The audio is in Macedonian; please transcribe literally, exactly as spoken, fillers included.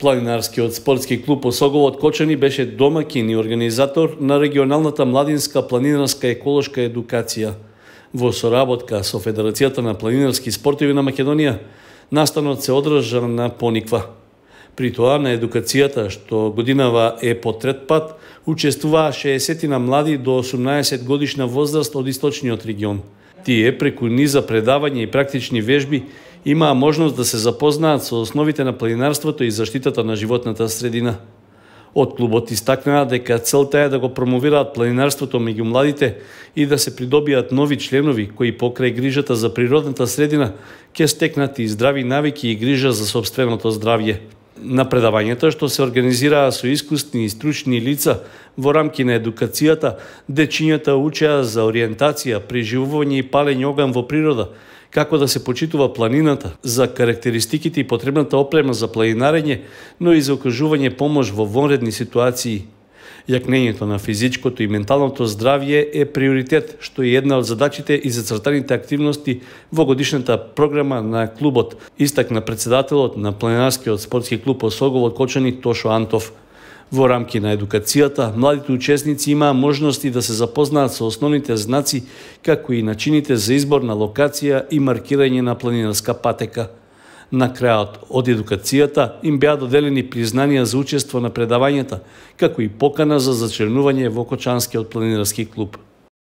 Планинарскиот спортски клуб Осоговот Кочани беше домаќин и организатор на регионалната младинска планинарска еколошка едукација. Во соработка со Федерацијата на планинарски спортови на Македонија, настанот се одржа на Пониква. При тоа на едукацијата, што годинава е по трет пат, учествуваа шеесет млади до осумнаесет годишна возраст од источниот регион. Тие, преку низа предавања и практични вежби, имаа можност да се запознаат со основите на планинарството и заштитата на животната средина. Од клубот истакнаа дека целта е да го промовираат планинарството меѓу младите и да се придобијат нови членови кои покрај грижата за природната средина ќе стекнат и здрави навики и грижа за сопственото здравје. На предавањето, што се организираа со искусни и стручни лица во рамки на едукацијата, дечињата учеа за ориентација, преживување и палење оган во природа, како да се почитува планината, за карактеристиките и потребната опрема за планинарење, но и за окружување помош во вонредни ситуации. Јакнењето на физичкото и менталното здравје е приоритет, што е една од задачите и зацртаните активности во годишната програма на клубот, истакна председателот на Планинарскиот спортски клуб Осоговот Кочани Тошо Антов. Во рамки на едукацијата, младите учесници имаа можности да се запознаат со основните знаци, како и начините за избор на локација и маркирање на планинарска патека. На крајот од едукацијата им беа доделени признанија за учество на предавањата, како и покана за зачленување во Кочанскиот планинарски клуб.